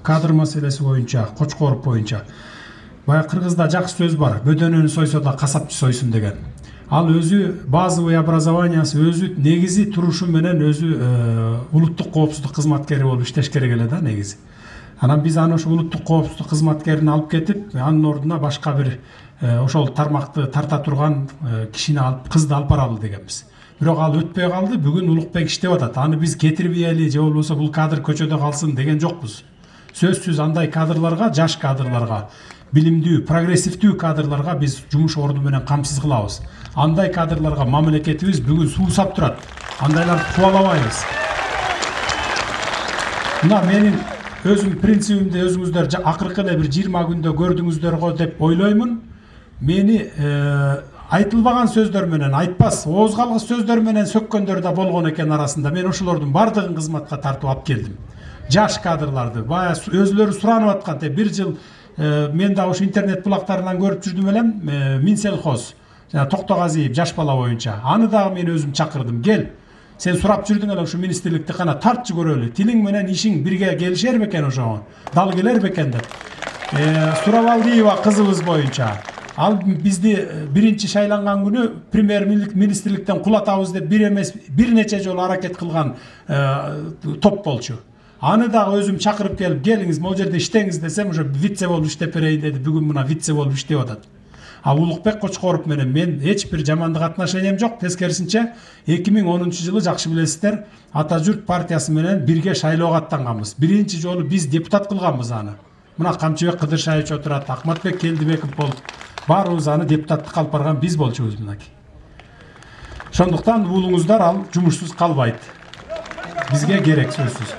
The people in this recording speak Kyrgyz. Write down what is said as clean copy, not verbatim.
кадр маселеси боюнча, Кочкоров боюнча. Баягы кыргызда жакшы сөз бар. Бөдөнөнү сойсо да касапчы сойсун деген. Ал өзү базовый образованиясы, өзү негизи турушу менен өзү улуттук коопсуздук кызматкери болуп иштеш керек эле да негизи. Анан биз аны ошо улуттук коопсуздук кызматкерин алып кетип, анын ордуна башка бир ошол тармакты тарта турган кишини алып, кызды алып баралы дегенбиз. Бирок ал өтпөй калды. Бүгүн Улукбек иштеп атат. Аны биз кетирбейели же болбосо бул кадр көчөдө калсын деген жокпуз. Сөзсүз андай кадрларга, жаш кадрларга, билимдүү, прогрессивдүү кадрларга биз жумуш орду менен камсыз кылабыз. Андай кадрларга мамлекетибиз бүгүн суусап турат. Андайларды кубалабайбыз. Мына менин өзүм принцибимди өзүңүздөр акыркы эле бир 20 күндө көрдүңүздөр го деп ойлоймун. Мени айтылбаган сөздөр менен, айтпас, ооз калгыс сөздөр менен сөккөндөр да болгон экен арасында. Мен ошолордун бардыгын кызматка тартып алып келдим. Жаш кадрларды, бая өзүлөрү суранып аткан, бир жыл мен да ошо интернет булактарынан көрүп жүрдүм элем, Минсельхоз, жана Токтогазиев жаш бала боюнча. Аны дагы мен өзүм чакырдым. Кел, сен сурап жүрдүң эле ушу министрликти, кана тартчы көрөлү. Тилиң менен ишиң бирге келишер бекен ошого? Дал келер бекен деп. Сурабалдиева кызыбыз боюнча. Ал бизди биринчи шайланган күнү премьер-министрликтен кулатабыз деп бир эмес, бир нече жолу аракет кылган топ болчу. Аны дагы өзүм чакырып келип, келиңиз, могу жерде иштеңиз десем, ошо вице болуп иштеп берейин деди. Бүгүн мына вице болуп иштеп атат. Улукбек Кочкоров менен мен эч бир жамандык отношениям жок. Тескерисинче 2010 жылы жакшы билесиздер, Ата журт партиясы менен бирге шайлоого аттанганбыз. Биринчи жолу биз депутат кылганбыз аны. Мына Камчыбек Кыдыршаевич отурат, Акматбек Келдибеков болуп, баарыбыз аны депутаттыкка алып барган биз болчубуз мынакей. Ошондуктан уулуңуздар ал жумушсуз калбайт. Бизге керек сөзсүз.